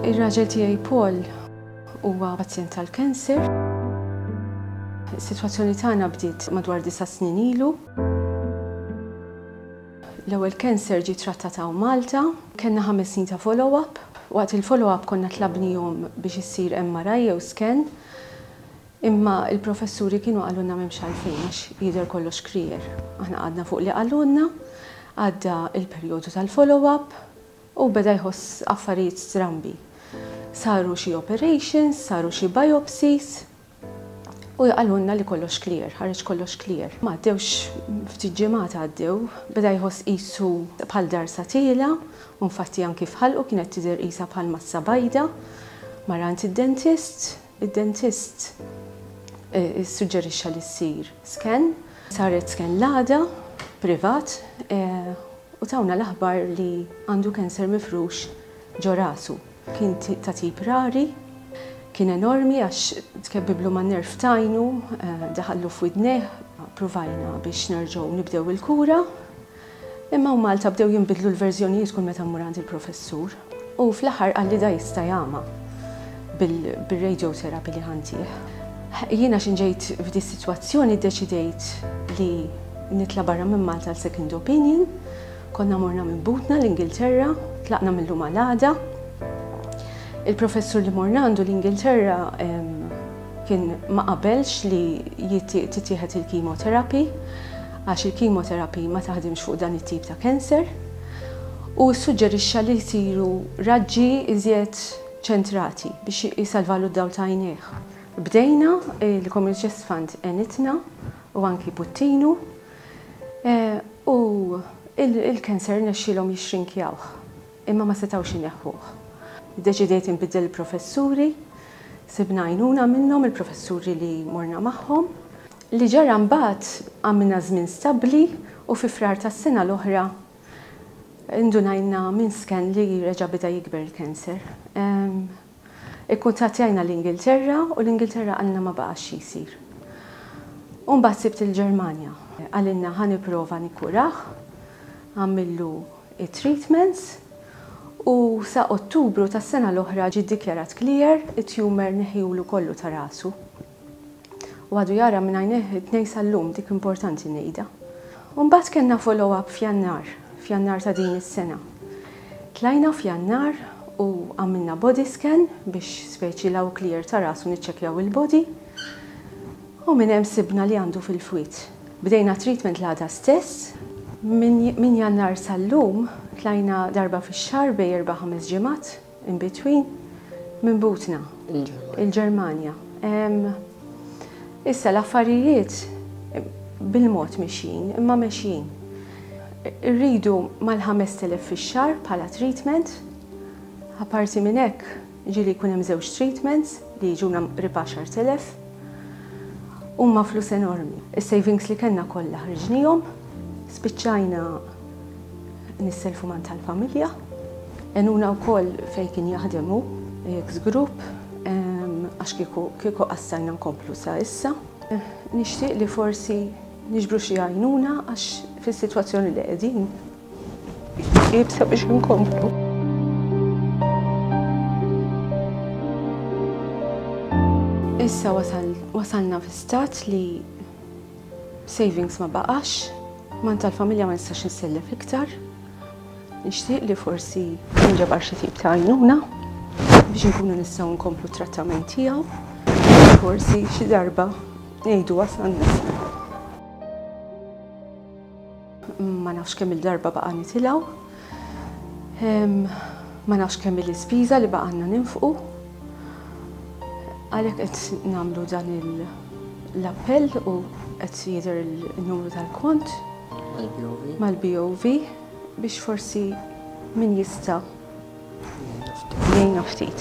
Ir-raġel tiegħi Paul huwa pazjent tal-cancer. Is-sitwazzjoni tagħna bdiet madwar disa' snin ilu. L-ewwel cancer ġie trattat hawn Malta, kellna ħames snin ta' follow-up. Waqt il-follow-up konna tlabnihom biex issir MRI jew scan, imma l-professuri kienu qalulna m'hemmx għalfejn għax jidher kollox clear. Aħna qgħadna fuq li qalulna, għadda l-perjodu tal-follow-up, U beda jħoss affarijiet strambi. Saru xi operations, saru xi biopsies u qalulna li kollox clear, ħareġ kollox clear. Ma għaddewx ftit ġimgħat għaddew, beda jħoss qisu bħal darsa tiela' u infatti anki f'ħalqu kienet tidher qisha bħal massa bajda. Mar għand id-dentist, id-dentist issuġġerixxa li ssir scan. Saret scan l-għada, privat, U tawna l-aħbar li għandu cancer mifrux ġo rasu. Kien ta' tip rari, kien enormi għax tkebbiblu man-nerv t'għajnu, daħallu f'widnejh. Pruvajna biex nerġgħu nibdew il-kura, imma hawn Malta bdew jinbidlu l-verżjonijiet kull meta mmur għand il-professur. U fl-aħħar qalli da jista' jagħma bil-radiotherapy li ħa ntih. Jiena x'in ġejt f'dis-sitwazzjoni ddeċidejt li nitla' barra minn Malta għal second opinion. Konna morna minn butna l-Ingilterra, tlaqna mil-lum għal għada. Il-professur li morna għandu l-Ingilterra kien ma qabelx li titieħed il-chemotherapy għax il-chemotherapy ma taħdimx fuq dan it-tip ta' cancer u ssuġġerixxa li jsiru raġġi iżjed ċentrati biex jsalvalu d-dawl ta' għajnejh. Bdejna, il-Community Chest Fund għenitna u anki Puttinu u il-cancer rnexxielhom jixxrinkjawh imma ma setgħux ineħħuh. Iddeċidejt inbiddel il-professuri, sibna għajnuna minnhom il-professuri li morna magħhom. Li ġara mbagħad għamilna żmien stabbli u fi Frar tas-sena l-oħra indunajna minn scan li reġa' beda jikber il-cancer. Ikkuntattjajna l-Ingilterra u l-Ingilterra qalilna ma baqax xi jsir. U mbagħad sibt il-Ġermanja. Qalilna ħa nipprova nikkurah, għamillu it-treatments u sa Ottubru tas-sena l-oħra ġie ddikjarat clear, it-tumor neħħiulu kollu ta' rasu. U għadu jara minn għajnejh it-tnejn sal-lum, dik importanti ngħidha. U mbagħad kellna follow-up f'Jannar, f'Jannar ta' din is-sena. Tlajna f'Jannar u għamilna body scan biex speċi la hu clear ta' rasu niċċekkjaw il-body. U minn hemm sibna li għandu fil-fwied. Bdejna treatment l-għada stess. Minn Jannar sal-lum tlajna darba fix-xahar bejn erba' ħames ġimgħat in between minn butna. Il-Ġermanja. Issa l-affarijiet bil-mod mexjin, imma mexjin. Irridu mal-5,000 fix-xahar bħala treatment. Apparti minn hekk, Ġieli jkun hemm żewġ treatments li jiġuna qrib 10,000. Huma flus enormi. Is-savings li kellna kollha ħriġnihom. Spiċċajna nisselfu man tal-familja. Għenuna wkoll fejn kien jaħdem hu, ex group, għax kieku kieku qassajna nkomplu sa issa. Nixtieq li forsi niġbru xi għajnuna għax fis-sitwazzjoni li qegħdin Iebsa biex inkomplu. Issa wasalna fi stat li savings ma baqax, man tal-familja ma nistax nsellef iktar. Nixtieq li forsi nġabar xi tip ta' għajnuna biex nkunu nistgħu nkomplu trattament tiegħu. Forsi xi darba ngħidu wasalna. Ma nafx kemm il-darba baqa' nitilgħu. Ma nafx kemm il-ispiża li baqgħalna ninfqu. Għalhekk qed nagħmlu dan l-appell u qed jidher il-numru tal-kont mal-BOV biex forsi min jista' jgħinna ftit.